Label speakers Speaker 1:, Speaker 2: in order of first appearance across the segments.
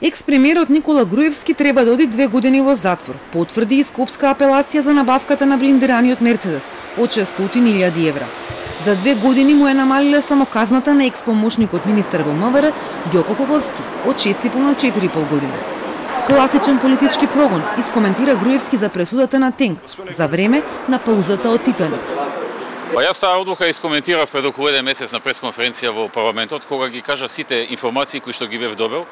Speaker 1: Екс-премиерот Никола Груевски треба да оди 2 години во затвор, потврди и скопска апелација за набавката на блиндираниот Мерцедес од 600.000 евра. За 2 години му е намалиле само казната на екс-помошникот министер во МВР Ѓоко Поповски од 6,5 на 4,5 години. Класичен политички прогон, искоментира Груевски за пресудата на Тенк за време на паузата од Титаник.
Speaker 2: Јас таа одлука искоментирав пред околу 1 месец на пресконференција во парламентот, кога ги кажа сите информации кои што ги бев добил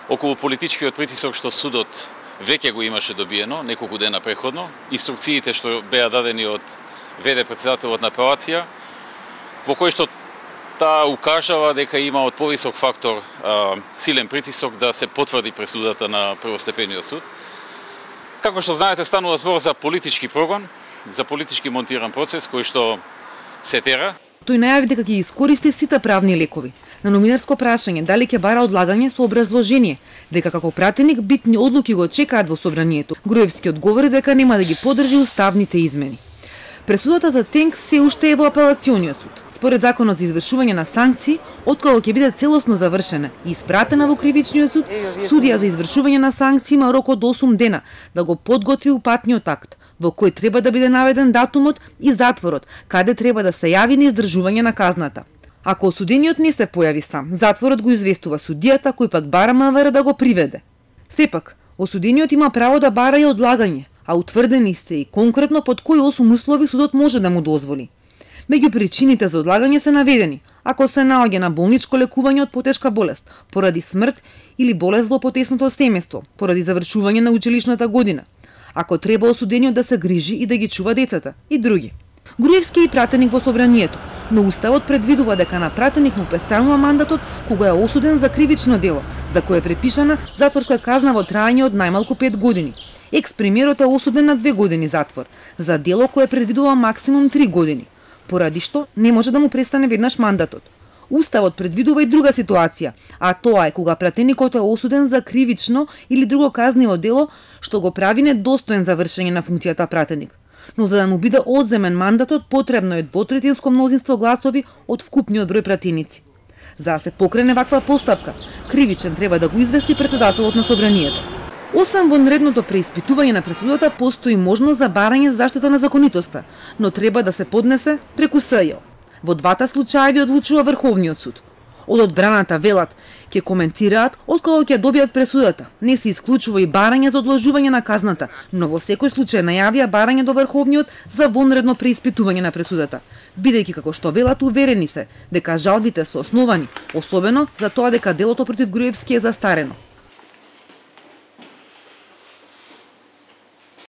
Speaker 2: околу политичкиот притисок што судот веќе го имаше добиено неколку дена преходно, инструкциите што беа дадени од ВД председателот на апелација, во кој што таа укажава дека има од повисок фактор силен притисок да се потврди пресудата на првостепениот суд. Како што знаете, станува збор за политички прогон, за политички монтиран процес кој што се тера.
Speaker 1: Тој најави дека ќе искористи сите правни лекови. На новинарско прашање дали ќе бара одлагање со образложение дека како пратеник битни одлуки го чекаат во собранието, Груевски одговори дека нема да ги поддржи уставните измени. Пресудата за Тенк се уште е во апелациониот суд. Според законот за извршување на санкции, откако ќе биде целосно завршена и испратена во кривичниот суд, судија за извршување на санкции има рок од 8 дена да го подготви упатниот акт, во кој треба да биде наведен датумот и затворот, каде треба да се јави на издржување на казната. Ако осудениот не се појави сам, затворот го известува судијата кој пак бара МВР да го приведе. Сепак, осудениот има право да бара и одлагање, а утврдени се и конкретно под кои 8 услови судот може да му дозволи. Меѓу причините за одлагање се наведени: ако се наоѓа на болничко лекување од потешка болест, поради смрт или болест во потесното семејство, поради завршување на училишната година, ако треба осудениот да се грижи и да ги чува децата и други. Груевски е и пратеник во собранието, но уставот предвидува дека на пратеник му престанува мандатот кога е осуден за кривично дело, за кое е препишана затворска казна во траење од најмалку 5 години. Екс-премиерот е осуден на 2 години затвор за дело кое предвидува максимум 3 години, поради што не може да му престане веднаш мандатот. Уставот предвидува и друга ситуација, а тоа е кога пратеникот е осуден за кривично или друго казниво дело што го прави недостоен за вршење на функцијата пратеник. Но за да му биде одземен мандатот, потребно е двотретинско мнозинство гласови од вкупниот број пратеници. За да се покрене ваква постапка, кривичен треба да го извести председателот на собранието. Освен во нредното преиспитување на пресудата, постои можност за барање за заштита на законитоста, но треба да се поднесе преку СЈ. Во двата случаи одлучува Врховниот суд. Од одбраната велат ќе коментираат откако ќе добијат пресудата. Не се исклучува и барање за одложување на казната, но во секој случај најавија барање до Врховниот за вонредно преиспитување на пресудата, бидејќи како што велат уверени се дека жалбите се основани, особено за тоа дека делото против Груевски е застарено.